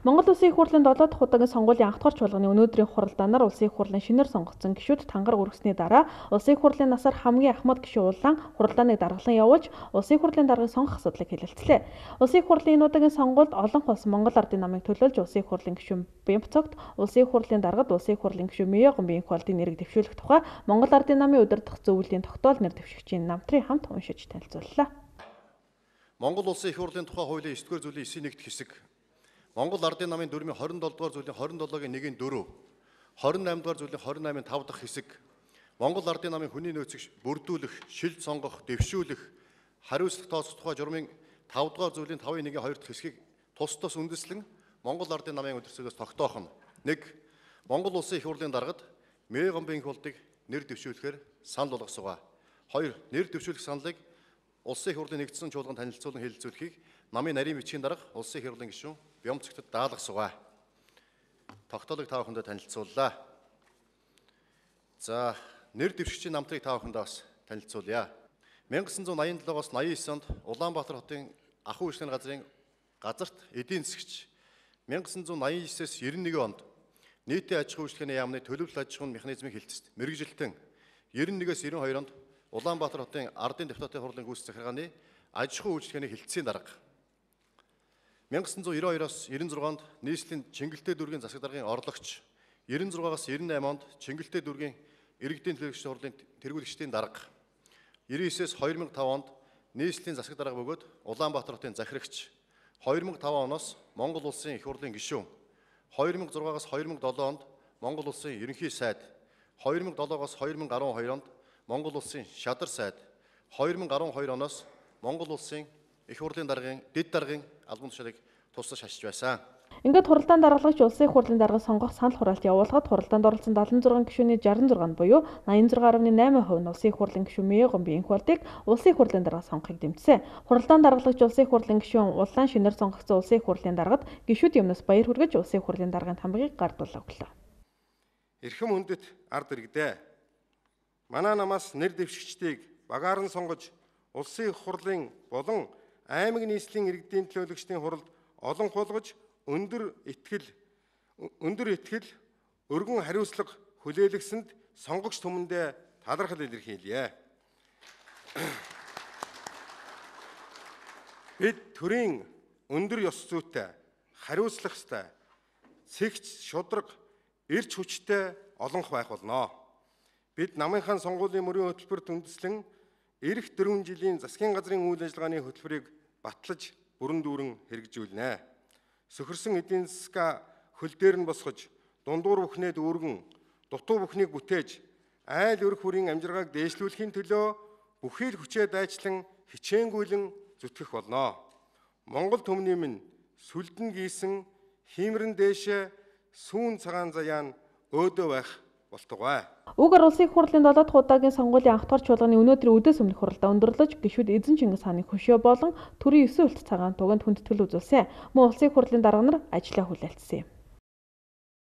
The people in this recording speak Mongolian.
Монгол Улсын их хурлын 7 дахь удаагийн сонгуулийн анх дахь чуулганы өнөөдрийн хуралдаанаар Улсын их хурлын шинээр сонгогдсон гишүүд тангар өргөсний дараа Улсын их хурлын насаар хамгийн ахмад гишүүн улаан хуралдааныг даргалан явуулж Улсын их хурлын даргыг сонгох асуудлыг хэлэлцлээ. Улсын их хурлын энэ удаагийн сонгуульд олон улс Монгол ардын намыг төлөөлж Улсын их хурлын гишүүн Бямбцогт, Улсын их хурлын даргад Улсын их хурлын гишүүн Меёгон Бинхвалдын нэрийг дэвшүүлэх тухай Монгол ардын намын удирдах зөвлөлийн тогтоол нэр дэвшигчийн намтрын хамт уншиж танилцууллаа. Монгол Улсын их хурлын тухай хуулийн 9-р зүйлийн 9-ийн 1-р хэсэг, Монгол ардын намын дүрмийн 27-р зүйлийн 27-гийн 1-ийн 4, 28-р зүйлийн 28-ийн 5 дахь хэсэг, Монгол ардын намын хүний нөөцийг бүрдүүлэх, шилд сонгох, дэвшүүлэх, хариуцлага тооцох тухай журмын 5-р зүйлийн 5-ийн 1-ийн 2 дахь хэсгийг тус тус үндэслэн Монгол ардын намын удирдлагаас тогтоох нь 1. Монгол Улсын их хурлын даргад Меёгон Бинхвалдыг нэр дэвшүүлэхээр санал болгосоо. 2. Нэр дэвшүүлэх саналыг Улсын их хурлын нэгдсэн чуулганд танилцуулан хэлэлцүүлэхийг намын нарийн бичгийн дарга Улсын их хурлын гишүүн Бямбцогтод даалгасаа. Тогтоолыг та бүхэндээ танилцууллаа. За, нэр дэвшигчийн намтрыг та бүхэндээ бас танилцуулъя. 1987-оос 89 онд Улаанбаатар хотын ахуй үйлчлэгийн газрын газарт эдийн засгч, 1989-с 91 онд нийтийн аж ахуй үйлчлэгийн яамны төлөвлөлт аж ахуйн механизмыг хэлцэд мэргэжилтэн 91-с 92 онд Улаанбаатар хотын ардын депутатын хурлын гүйцэтгэх захиргааны аж ахуй үйлчлэгээний хэлтсийн дарга. 1992-оос 96-онд нийслэлийн Чингэлтэй дүүргийн засаг даргын орлогч, 96-аас 98 онд Чингэлтэй дүүргийн иргэдийн төлөөлөгчдийн хурлын тэргүүлэгчдийн дарга. 99-с 2005 онд нийслэлийн засаг дарга бөгөөд Улаанбаатар хотын захирагч, 2005 оноос Монгол Улсын их хурлын гишүүн, 2006-аас 2007 онд Монгол Улсын ерөнхий сайд, 2007-оос 2012 онд Монгол Улсын шадар сайд, 2012 оноос Монгол Улсын их хурлын даргын дэд даргын албан тушаалыг тусдаж хашиж байсан. Ингээд хуралдаан даргалагч Улсын их хурлын даргыг сонгох санал хураалт явуулахад хуралдаанд оролцсон 76 гишүүний 66 буюу 86.8% нь Улсын их хурлын гишүүн Меёгон Бинхвалдыг Улсын их хурлын дарга сонгохыг дэмжсэн. Хуралдаан даргалагч Улсын их хурлын гишүүн улаан шинээр сонгогдсон Улсын их хурлын даргад гишүүд юмнаас баяр хүргэж Улсын их хурлын даргын тамгыг гардуулаа өглөө. Эрхэм хүндэт ард иргэдээ. Манай намаас нэр дэвшигчдийг багаар нь сонгож Улсын их хурлын болон аймаг нийслэлийн иргэдийн төлөөлөгчдийн хуралд олон хулгаж өндөр итгэл, өргөн хариуцлага хүлээлгэсэнд сонгогч түмэндээ талархал илэрхийлье. Бид төрийн өндөр ёс зүйтэй, хариуцлагатай, цэгц, шудраг, эрч хүчтэй олонх байх болно. Бид намынхаа сонгуулийн мөрийн хөтөлбөрт үндэслэн эх 4 жилийн засгийн газрын үйл ажиллагааны хөтөлбөрийг батлаж бүрэн дүүрэн хэрэгжүүлнэ. Сөхөрсөн эдийн засгаа хөл дээр нь босгож, дундуур бүхнээ дүүргэн, дутуу бүхнийг бүтээж, айл өрх бүрийн амжиргааг дээшлүүлэхийн төлөө бүхий л хүчээ дайчлан хичээнгүйлэн зүтгэх болно. Монгол төмний минь сүлдэн гийсэн хиймрэн дээшээ сүүн цагаан заяан өөдөө байх болтугай. Уг Улсын их хурлын 7 дахь удаагийн сонгуулийн анх дахь чуулганы өнөөдрийн өдөөс өмнөх хуралдаа өндөрлөж гишүүд Эзэн Чингис хааны хөшөө болон төрийн 9 үлт цагаан туганд хүндэтгэл үзүүлсэн. Мөн Улсын их хурлын дарга нар ажлаа хүлээлтсэн юм.